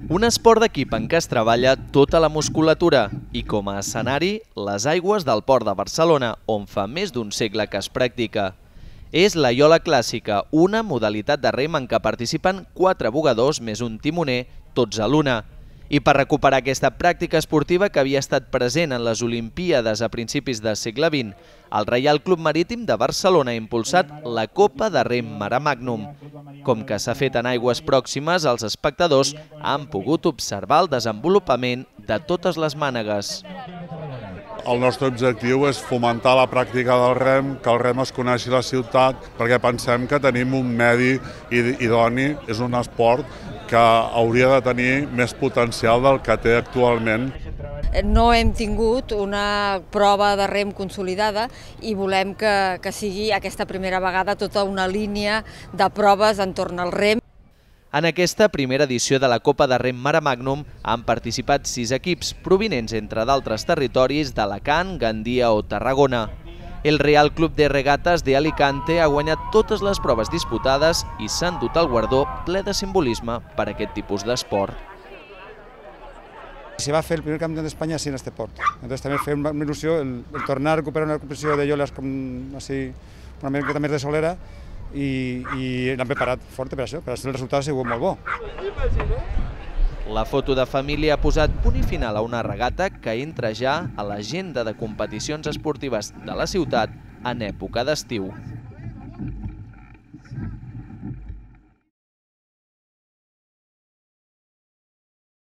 Un esport d'equip en què es treballa tota la musculatura i com a escenari les aigües del Port de Barcelona, on fa més d'un segle que es practica. És la iola clàssica, una modalitat de rem en què participen 4 bugadors més un timoner, tots a l'una. I per recuperar aquesta pràctica esportiva que havia estat present en les Olimpíades a principis del segle XX, el Reial Club Marítim de Barcelona ha impulsat la Copa de Rem Mare Magnum. Com que s'ha fet en aigües pròximes, els espectadors han pogut observar el desenvolupament de totes les mànegues. El nostre objectiu és fomentar la pràctica del rem, que el rem es coneixi a la ciutat, perquè pensem que tenim un medi idoni, és un esport que hauria de tenir més potencial del que té actualment. No hem tingut una prova de rem consolidada i volem que sigui aquesta primera vegada tota una línia de proves entorn al rem. En aquesta primera edició de la Copa de Rem Mare Magnum han participat 6 equips provinents, entre d'altres territoris, d'Alacant, Gandia o Tarragona. El Real Club de Regates de Alicante ha guanyat totes les proves disputades i s'ha endut el guardó ple de simbolisme per a aquest tipus d'esport. Se va a fer el primer campeón de España sin este port. Entonces también fue una ilusión el tornar a recuperar una competició de ioles com así, una miqueta més de solera i l'han preparat fort per això, per el resultat ha sigut molt bo. La foto de família ha posat punt i final a una regata que entra ja a l'agenda de competicions esportives de la ciutat en època d'estiu.